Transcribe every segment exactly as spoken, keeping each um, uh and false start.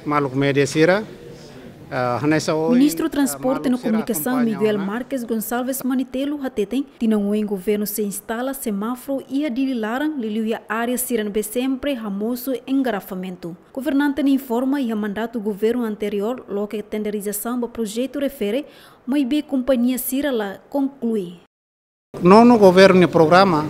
Maluk média sira, ah, hanesan ohin, Ministru ah, Transporte no Komunikasaun Miguel Marques Gonçalves Manitelo hateten, tinan oin governu sei instala semáforu iha Dili laran, liuliu iha área sira ne'ebé sempre hamosu engarrafamentu. Governante ne'e informa iha mandatu governu anteriór loke tenderizasaun ba projetu refere, maibé kompañia sira la konklui. Nonu governu nia programa,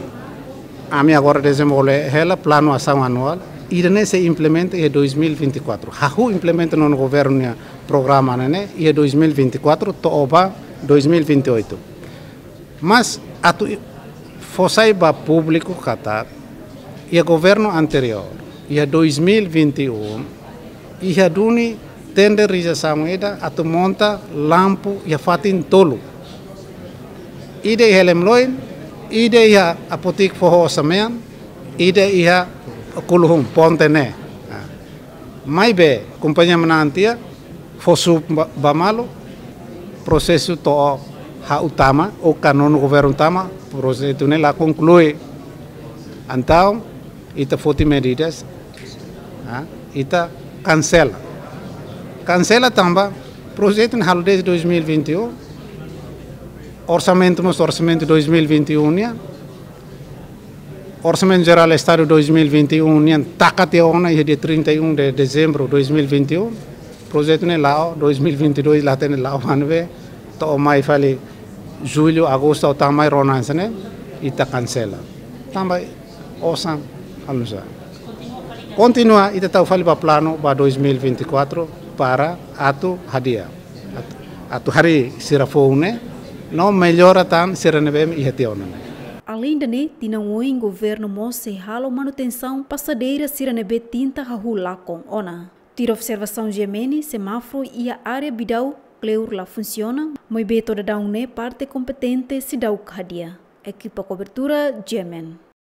ami agora dezenvolve hela planu asaun anuál, ida-ne'e sei implementa iha dois mil e vinte e quatro. Hahú implementa nonu governu nia programa ne'e iha dois mil e vinte e quatro to'o ba dois mil e vinte e oito. Mas atu i-, fó sai ba públiku katak, iha governu anteriór, iha dois mil e vinte e um, iha duni tenderizasaun ida atu monta lampu iha fatin tolu. Ida iha Lemloin, ida iha Apotik Foho Osamean, ida iha Kuluhun, ponte ne'e. Ah. Maibé, kompañia manán tiha, fó suuk ba, ba malu, prosesu to'o hahú tama, ou ka nonu governu tama, projetu ne'e la konklui. Entaun, ita foti medidas, ah, ita kansela. Kansela tanba, projetu ne'e halo dezde dois mil e vinte e um, orsamentu mós orsamentu dois mil e vinte e um nian, Orsamentu Jerál Estadu dois mil e vinte e um nian taka tiha ona iha dia trinta e um de dezembro dois mil e vinte e um. Projetu ne'e la'o, dois mil e vinte e dois la hatene la'o, maibé to'o mai fali jullu, agostu, ou tan mai rona hanesan ne'e, ita kansela. Tanba osan halo nusá. Kontinua, ita tau fali ba planu ba dois mil e vinte e quatro para atu hadi'a. Atu, atu harii sira foun ne'e, no mellora tan sira ne'ebé iha tiha ona ne'e. Aleinde ne'e, tinan oin governu mós sei halo manutensaun pasadeira sira ne'ebé tinta hahú lakon ona. Tuir observasaun GMN, semáforu iha área Bidau kleur la funsiona, maibé to'o daudaun ne'e parte kompetente seidauk hadi'a. Ekipa kobertura GMN.